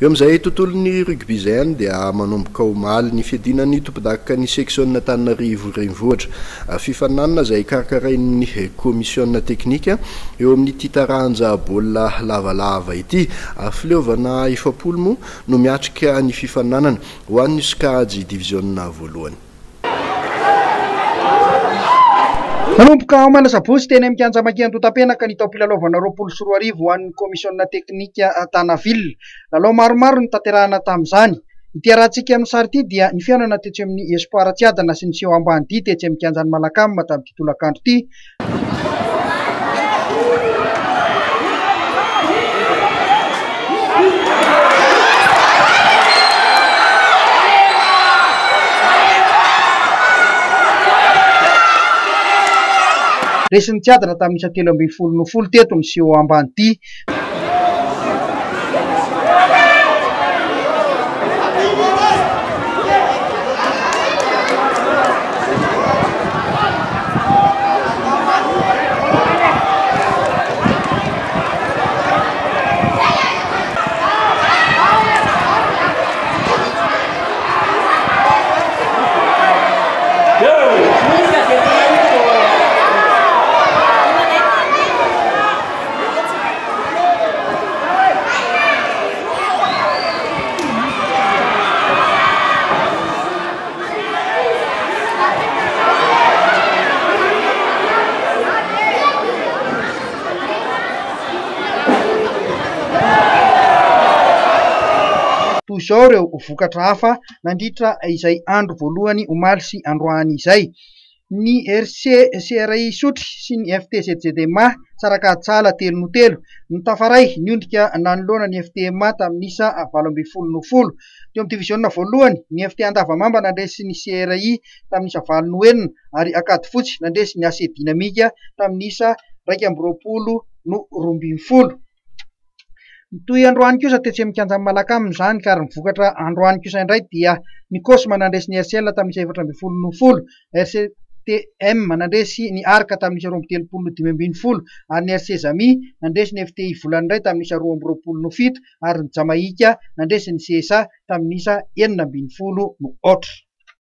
Eo amin'izay tontolon'ny rugby izay ihany dia manomboka omaly ny fiadiana ny tompondakan'ny seksiona Antananarivo Renivohitra. Fifaninanana izay karakarain'ny komisiona teknika eo amin'ity taranja baolina lavalava ity. Fileovana 40 moa no miatrika ny fifaninanana ho an'ny sokajy diviziona voalohany. Nanomboka omaly asabotsy teny amin'ny kianja Maki Antotapenaka ny taom-pilalaovana 2020 ho an'ny komisiona teknika Tana Ville. Lalao maromaro no notanterahina tamin'izany. Ity arahantsika amin'ny sary ity dia ny fihaonana tetsy amin'ny Espoir Tsiadana sy ny Seho Ambanidia tetsy amin'ny kianjan'i Malacam tamin'ity tolakandro ity. Resin'ny Tsiadana tamin'ny isa 13 no 10 teto ny Seho Ambanidia. Toy izao ireo vokatra hafa nandritra izay andro voalohany omaly sy androany izay. Ny RC CRI Isotry sy ny FTZZMA Tsarakatsala telo no telo. Ny tafaray niondrika nanoloana ny FTMA tamin'ny isa 18 no 10. Teo amin'ny diviziona voalohany, ny FT Andavamamba nandresy ny CRI tamin'ny isa 8 no 6 ary Ankadifotsy nandresy ny AC Dynamique tamin'ny isa 21 no 12. Mitohy androany kosa tetsy amin'ny kianjan'i Malacam izany ka ary ny vokatra androany kosa indray dia ny Cosma nandresy ny RCL tamin'ny isa 14 no 10, RCTM nandresy ny Arc tamin'ny isa 32 no 15 ary ny RC Zami nandresy ny FTI Volany indray tamin'ny isa 22 no 7 ary ny Jamaika nandresy ny CSA tamin'ny isa 16 no 0.